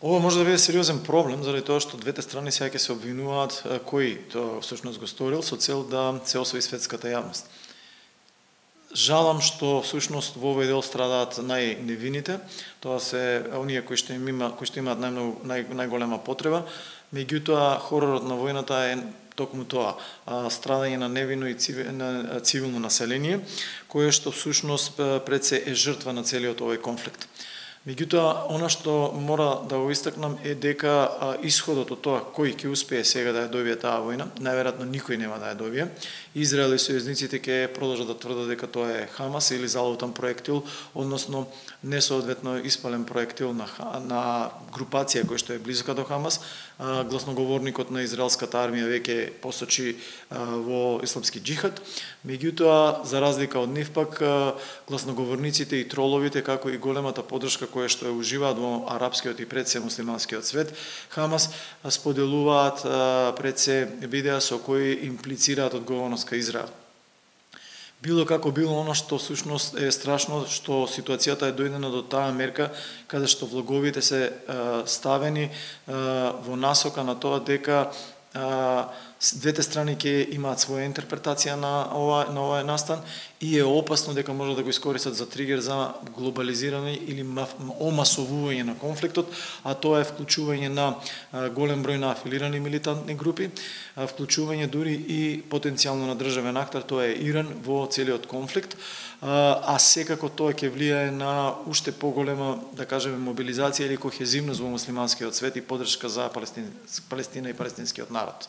Ова може да биде сериозен проблем заради тоа што двете страни сега ќе се обвинуваат кој тоа всушност го сторил со цел да се освои светската јавност. Жалам што всушност во овој дел страдаат најневините, тоа се оние кои што имаат најголема потреба, меѓутоа хоророт на војната е токму тоа, страдање на невино и цивилно население, кое што всушност пред се е жртва на целиот овој конфликт. Меѓутоа, она што мора да го истакнам е дека исходот од тоа кој ќе успее сега да ја добие таа војна, најверојатно никој нема да ја добие. Израел и сојузниците ќе продолжат да тврдат дека тоа е Хамас или залутан проектил, односно несоодветно испален проектил на групација која што е близка до Хамас. Гласноговорникот на израелската армија веќе посочи во исламски џихад. Меѓутоа, за разлика од нив пак, гласноговорниците и троловите, како и големата поддршка која што ја уживаат во арапскиот и пред се муслиманскиот свет, Хамас споделуваат пред се видеа со кои имплицираат одговорност кај Израел. Било како било, она што всушност е страшно, што ситуацијата е дојдена до таа мерка каде што влоговите се ставени во насока на тоа дека двете страни ќе имаат своја интерпретација на овој настан и е опасно дека може да го искористат за тригер за глобализирање или омасовување на конфликтот, а тоа е вклучување на голем број на афилирани милитантни групи, вклучување дури и потенцијално на државен актер, тоа е Иран во целиот конфликт, а секако тоа ќе влијае на уште поголема, да кажеме, мобилизација или кохезивност во муслиманскиот свет и поддршка за Палестина и палестинскиот народ.